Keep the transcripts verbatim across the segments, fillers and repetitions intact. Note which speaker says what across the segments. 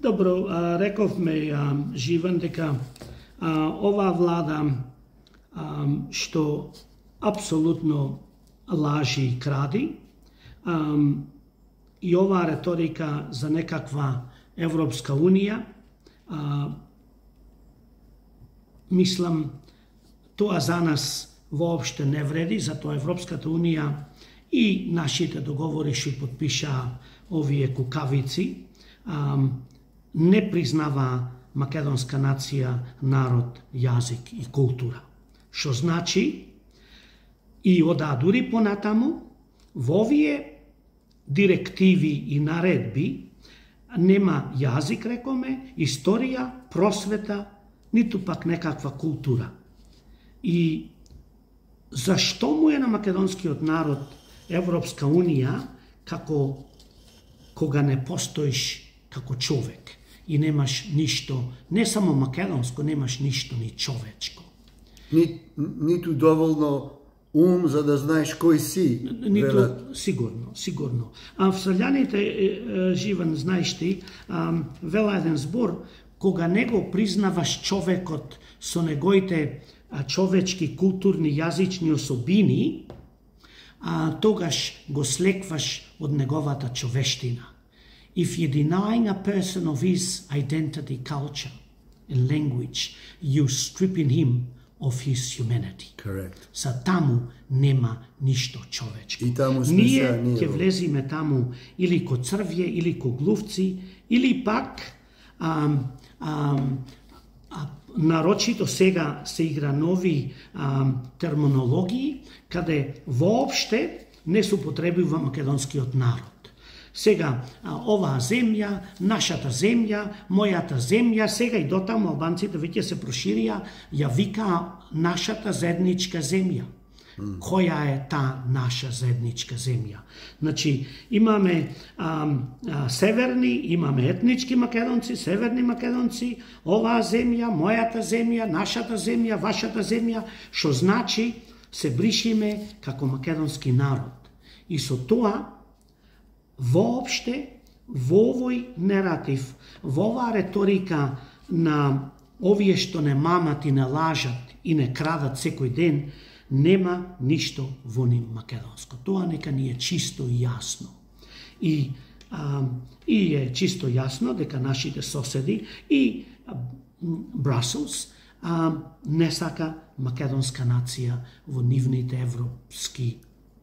Speaker 1: Добро, а, рековме, а, Живан, дека а, оваа влада а, што апсолутно лажи и кради, а, и оваа реторика за некаква Европска Унија, а, мислам, тоа за нас воопште не вреди, затоа Европската Унија и нашите договори што подпишаа овие кукавици, а, не признава македонска нација, народ, јазик и култура. Што значи, и ода дури понатаму, во овие директиви и наредби нема јазик, рекоме, историја, просвета, ниту пак некаква култура. И зашто му е на македонскиот народ Европска Унија, како кога не постоиш како човек и немаш ништо, не само македонско, немаш ништо ни човечко.
Speaker 2: Ни, ниту доволно ум за да знаеш кој си.
Speaker 1: Ниту,
Speaker 2: велат.
Speaker 1: сигурно, сигурно. А Австралијаните, Живан, знаеш ти, вела еден збор, кога не го признаваш човекот со негоите човечки, културни, јазични особини, а, тогаш го слекваш од неговата човештина. If you're denying a person of his identity, culture, and language, you're stripping him of his humanity.
Speaker 2: Correct.
Speaker 1: Са таму нема ништо човечко.
Speaker 2: И таму сме
Speaker 1: ние
Speaker 2: сега, ние
Speaker 1: ќе
Speaker 2: во-
Speaker 1: влезиме таму или ко црвје, или ко глувци, или пак а, а, а, нарочито сега се игра нови а, терминологии, каде воопште не се употребува македонскиот народ. Сега, а, оваа земја, нашата земја, мојата земја, сега и дотаму албанците веќе се проширија, ја викаа нашата заедничка земја. Mm. Која е та наша заедничка земја? Значи, имаме а, а, северни, имаме етнички македонци, северни македонци, оваа земја, мојата земја, нашата земја, вашата земја, што значи се бришиме како македонски народ. И со тоа, воопште, во овој нератив, во оваа реторика на овие што не мамат и не лажат и не крадат секој ден, нема ништо во ним македонско. Тоа нека ни е чисто и јасно. И, а, и е чисто јасно дека нашите соседи и Брусселс а, не сака македонска нација во нивните европски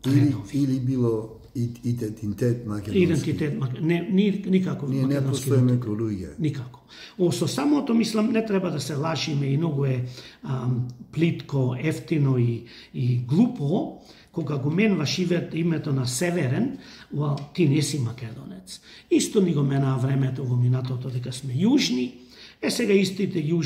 Speaker 2: Или,
Speaker 1: редови.
Speaker 2: или било идентитет македонски.
Speaker 1: Идентитет, не, ни, никако
Speaker 2: Ние не
Speaker 1: македонски
Speaker 2: постоиме
Speaker 1: идентитет.
Speaker 2: ко луѓе.
Speaker 1: Никако. О, со самото, мислам, не треба да се лашиме и многу е ам, плитко, ефтино и, и глупо, кога го менваш името на Северен, well, ти не си македонец. Исто ни го менаа времето во минатото дека сме јужни, е сега истите јужни